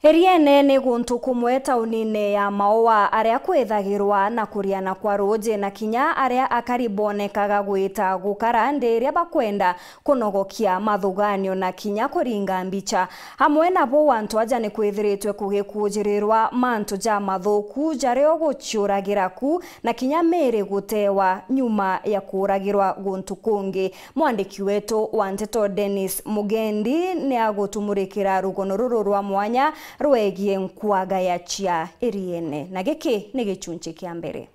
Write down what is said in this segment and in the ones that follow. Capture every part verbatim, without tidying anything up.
Iriene ni guntu kumwe taunine ya Maua aria kwithagirwa na kuriana kwa ruuji na kinya aria akari bonekaga gwita gukara ndi iria bakwenda kunogokia mathuganio na kinya kuringa mbicha. Amwe nabo antu aja ni kwithiritwe kugikujirirwa mantu ja mathuku jaria uguciuragira ku na kinya miri gutewa nyuma ya kuuragirwa guntu kungi. Mwandiki wetu wa nteto Dennis Mugendi ni agutumurikira rugono ruru rwa mwanya rwegie nkwaga ya cia Iriene, na giki ni gichunchi kia mbere.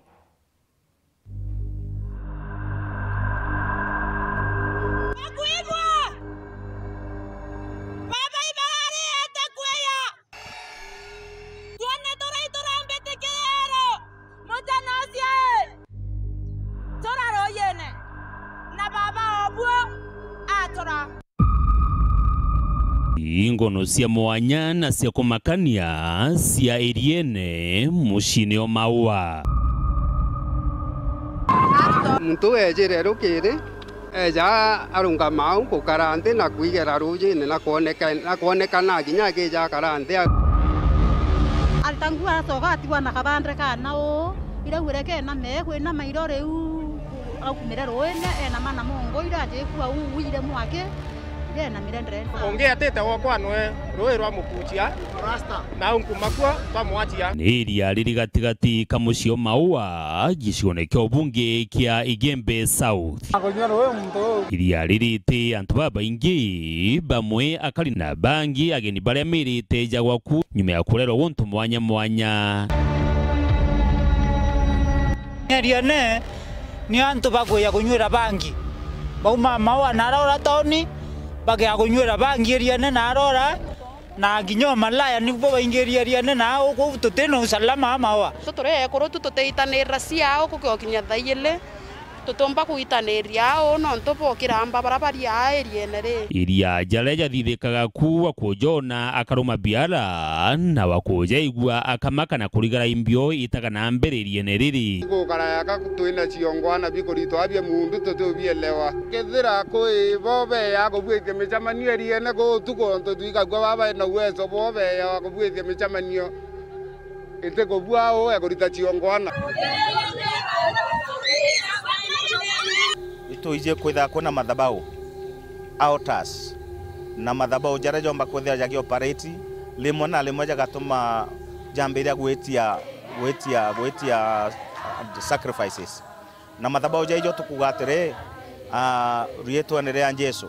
Bakwimwa! Baba ibarari ete kweya! Twone turai turambitikiria ero, mujana ucio i, tura ruuyine, na baba obuo atura. Ingono cia mwanya na cia kumakania cia Iriene muciine o Maua. Muntu ejire rukiri, eja arungama au gukara nthi na kwigera ruujine na kwoneka, na kwonekana kinya akija akara nthi. Arita nguo aracoka atigwa na kabande kana uu, iraugire kename, kwinama iro riu, aumire ruuine, enama na mongo ira ajikua uu, ire mwaki, ire enamire ndrenda. Ungi atite wokwa nwe ruui rwa mukuchia, na unkumakua twamwatia. Ni iria riri gatigati ka mucii o Maua, gicione kia ubunge kia Igembe South. Akunyua ruui muntu uu. Iria riri ti antu babaingi, bamwe akari na bangi ageni baria mirite jagwa ku nyuma ya kurerwa guntu mwanya mwanya. Iriene ni antu bakuja kunyuira bangi. Bauma Maua na arora tauni, bakeja kunyuira bangi Iriene na arora. Na kinya o malaya nibo baingiririe Iriene na au kuu tuti na usalama a Maua. Tu turi ekuru tu tutiitanirira cia au kukinya thaa ijiri, tutiumba kuitaniria au nontu bwa ukiramba bara bari aa Iriene ri. Iria jaria jathithikaga ku wa kujona akaruma biara na wa kujaigua akamaka na kurigara imbio itaga na mbere Iriene riri. Gukara yaka twina ciongwana bikuritwa bia mundu tutiubielewa. Kethira kwi bo beya kubuitia micemanio Iriene kuu utuku, ontu twikagua baba na uwezo bwo beya wa kubuitia micemanio, itikubua uu ekurita ciongwana. Itwiji kwithira kwina mathabau, altars, na mathabau jaria jomba kwithira jagi operate, rimwe na rimwe jagatuma jambiria gwitia, gwitia, gwitia, uh, sacrifices. Na mathabau jaijo tukuuga atiri, aa, riitwene ria Jesu,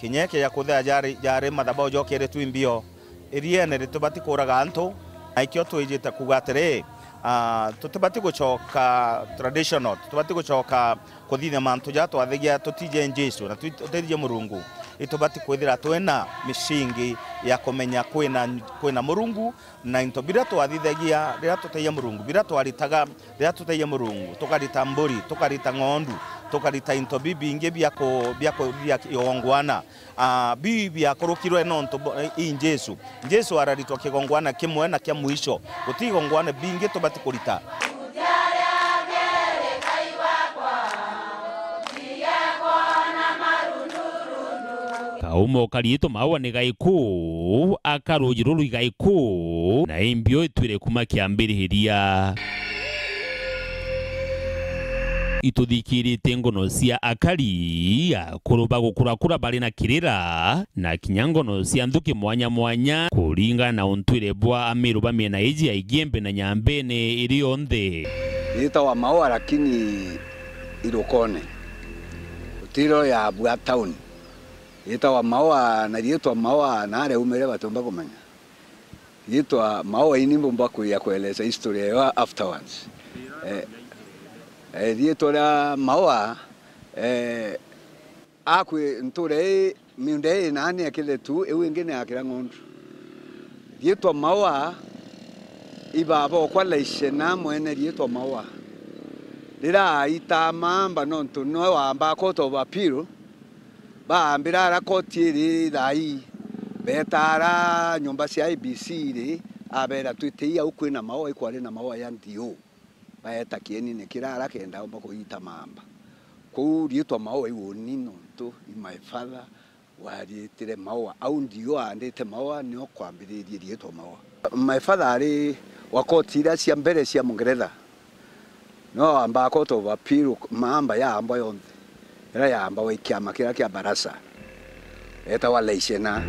kinya ikija kuthea jari, jari mathabau jokiritwe imbio, Iriene ritibati kuuraga antu, na ikio twijite kuuga atiri, aa, tutibati gucoka traditional, tutibati gucoka kuthithia mantu jaria twathagia tutije Jesu na twi-, tutithie Murungu. Itubati kwithira twina micingi ya kumenya kwina, kwina Murungu, na into biria twathithagia riria tutaija Murungu, biria twaritaga riria tutaija Murungu, tukarita mburi, tukarita ng'ondu, tukarita into bibingi bia ku-, bia ku-, bia kigongwana, aa, biu biakurukirwe nontu bo-, i Jesu. Jesu araritwa kigongwana kimwe na kia mwisho. Guti igongwana bingi tubati kurita. Kaumo kariitwa Maua ni gaiku, aka ruuji ruru igaiku, na imbio itwire kuma kiambiriria. Ituthikirite ngono cia akari, akuru ba gukurakura bari na kirira, na kinya ngono cia nthuki mwanya mwanya, kuringana na untwire bwa amiru ba miena iji ya Igembe na Nyambene iri yonthe. Yitawa Maua, lakini irukone. Utiro ya bua town. Yitawa Maua, na riitwa Maua, na aria umire batiumba kumenya. Riitwa Maua, ini mbumba kuya kueleza history yayo afterwards. Eh, eh, riitwa ria Maua, eh, akwi ntura ii, miunda ii nani ekire tu, iu ingi ni akira ng'ondu. Riitwa Maua, ibaba okwa laishena mwene riitwa Maua. Riria aitama amba nontu noe wamba court of appeal, baambira ara koti iri thaa ii, beeta ara nyomba cia I E B C iri, abeera, "Twitei au kwina Maua, ikwari na Maua ya D O." Baeta kienine kiria ara kenda aumba kuita mamba. Kuu riitwa Maua i uuni nontu i my father, Wariitire Maua, au ndio aandite Maua, nio kwambiririe riitwa Maua. My father ari wa koti iria cia mbere cia Mungeretha. No amba Court of Appeal, maamba ya amba yonthe, iria yaamba wa kiama kiria kia Barasa, etagwa Laishena.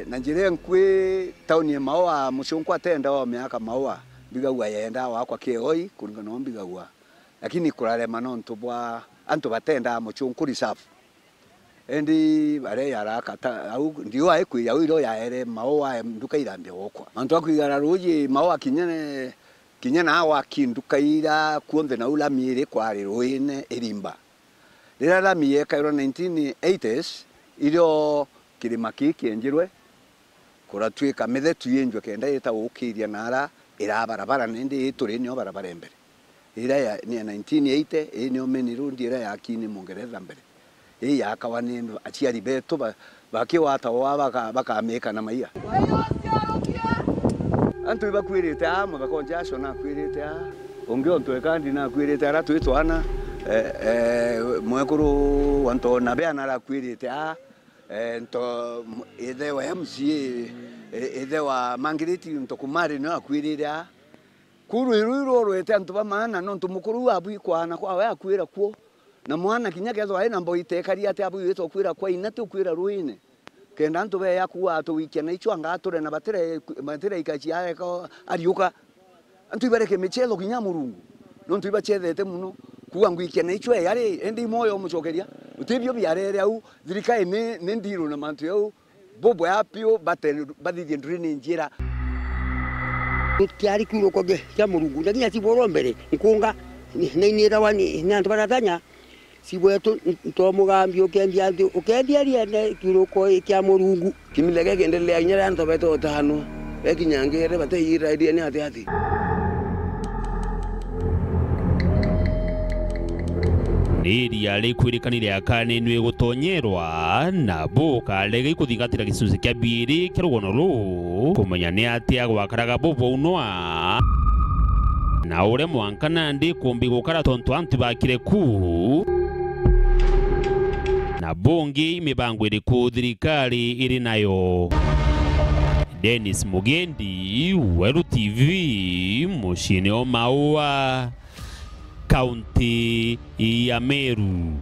Na njira nkui tauni ya Maua, mucunku atenda wa miaka Maua, mbigagua yenda wakwa kioi, kuringana na mbigagua. Lakini kurarema nontu bwa antu batenda mucunku reserve. Indi baria yaraka ta, au, ndiu aikwija, au irio yaere Maua nduka irambia gukwa. Mantu a kwigara ruuji Maua kinya ne, kinya na waki nduka ira kuonthe nau lami iri kwari ruine irimba. Riria lami yekairwe nineteen eighties, irio kirima kii kienjirwe, kuratuika mithetu yenjwe kenda ita gukiria na ara ira barabara, na indi ii turi nio barabara ya mbere. Iria ya, ni ya nineteen eighty, ii nio main road iria yaki ni Mungeretha mbere. Ii yakawa ni aciari betu ba-, bakiwata wa baka-, bakamika na maia. Antu ibakwirite aa, Muthaka Jasho nakwirite aa, ungi Ontu Ekandi nakwirite ara twi twana, eh, eh, mwekuru wa Ntona Bea narakwirite aa, eh, nto, m-, ithe wa M C A, eh, ithe wa Margaret Ntokumari nio akwirire aa. Kuu rwiri ruu rworwete antu ba maana, nontu mukuru uu abwikwa na kwawe akwira kuo. Na mwana kinya kethwa ari na mboi tekari ati abwirite ukwira kwa ina ti ukwira ruine. Kenda antu beya kuuga atuwikia na ichwa anga ature na batire, batire ikachi areka ariuka. Antu ibareke michetho kinya Murungu. Nontu ibachethete muno. Kuuga ngwikia na ichwa yari, indi imoyo umucokeria. Utibio biarere au, thirikari ni, ni ndiru na mantu yau. Bubwea piu bate-, bathithie drainage ira. Kiari kiuroko kia, kia Murungu, na kinya cibworo mbere, nkunga, ni, ni, ni rawa ni, ni antu baratanya, cibwetu, nto mugambi ukendia nthi, ukendia riene kiuroko kia Murungu. Kimile gekiendelea kinya riria antu bete utano, bekinyangire, bateiira iria ni ati ati. Ni iria rikwirikani riakaninue gutonyerwa, na bukarega ikuthingatira gicunci kia biiri kia rugono ruu, kumenya ni atia gwakaraga bubwaunwa, na uria mwanka nandi kumbi gukara tontu antu bakire ku, na bungi i mibango iriku thirikari iri nayo. Dennis Mugendi, Weru T V, muciini o Maua, kaunti ya Meru.